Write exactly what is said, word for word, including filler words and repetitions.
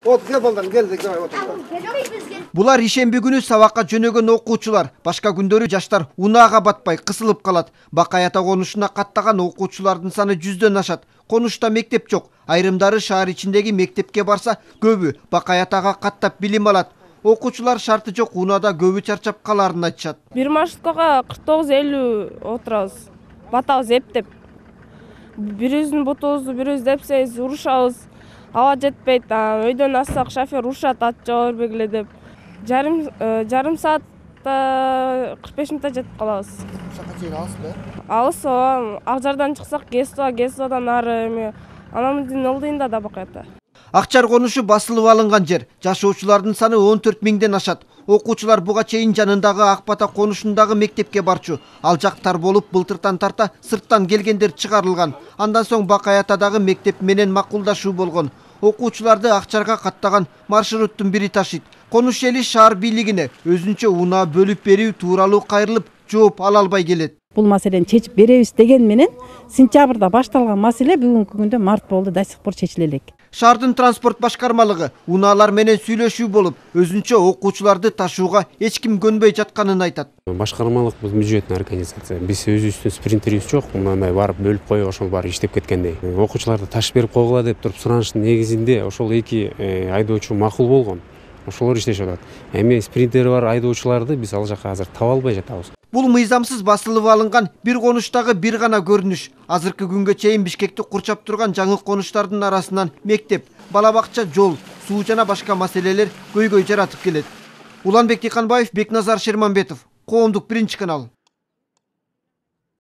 Вот кел балдар, кел, давай отур. Булар ишемби күнү сабакка жөнөгөн окуучулар. Башка күндөрү жаштар унаага батпай кысылып калат. Бакай ата конушуна каттаган окуучулардын саны жүздөн ашат. Конушта мектеп жок. Айрымдары шаар ичиндеги мектепке барса, көбү Бакай атага каттап билим алат. Окуучулар шарты жок унаада көбү чарчап каларын айтышат. Бир маршруткага кырк тогуз элүү отурабыз. Батабыз эптеп. Бирибиздин бутубузду бирибиз депсебиз урушабыз. Аба жетпейт. Өйдөн ассак шофер урушат, ат жаба бербегиле деп. Жарым жарым саатта кырк беш мүнөттө жетип калабыз. Шака чейин алысбы? Алыс, Акжардан чыксак, Гесова, Гесовадан ары эми анамыздын ылдыйында да Бакай ата. Акчар конушу басылып алынган жер. Жашоочулардын саны он төрт миңден ашат. Окуучулар буга чейин жанындагы Ак Бата конушундагы мектепке барчу. Ал жактар болуп былтыртан тарта сырттан келгендер чыгарылган. Андан соң Бакай атадагы мектеп менен макулдашуу болгон. Окуучуларды Акчарга каттаган маршруттун бири ташыйт. Конуш эли шаар бийлигине өзүнчө унаа бөлүп берүү тууралуу кайрылып жооп ала албай келет. Бул маселени чечип беребиз деген менен сентябрда башталган маселе бүгүнкү күндө март болду, до сих пор чечиле элек. Шаардын транспорт башкармалыгы унаалар менен сүйлөшүү болуп, өзүнчө окуучуларды ташууга эч ким көнбөй жатканын айтат. Башкармалык бул бюджеттин организация. Биз өзүбүздүн спринтерибиз жок. Мындай барып бөлүп коюп, ошол баары иштеп кеткендей. Окуучуларды ташып берип койгула деп туруп сураныштын негизинде ошол эки айдоочу макул болгон. Ошолор иштешип атат. Эми спринтери бар айдоочуларды биз ал жака азыр таба албай жатабыз. Бул мыйзамсыз басылып алынган бир конуштагы бир гана көрүнүш. Азыркы күнгө чейин Бишкекти курчап турган жаңы конуштардын арасынан мектеп, бала бакча, жол, суу жана башка маселелер көйгөй жаратып келет. Уланбек Тиканбаев, Бекназар Шерманбетов, Коомдук биринчи канал.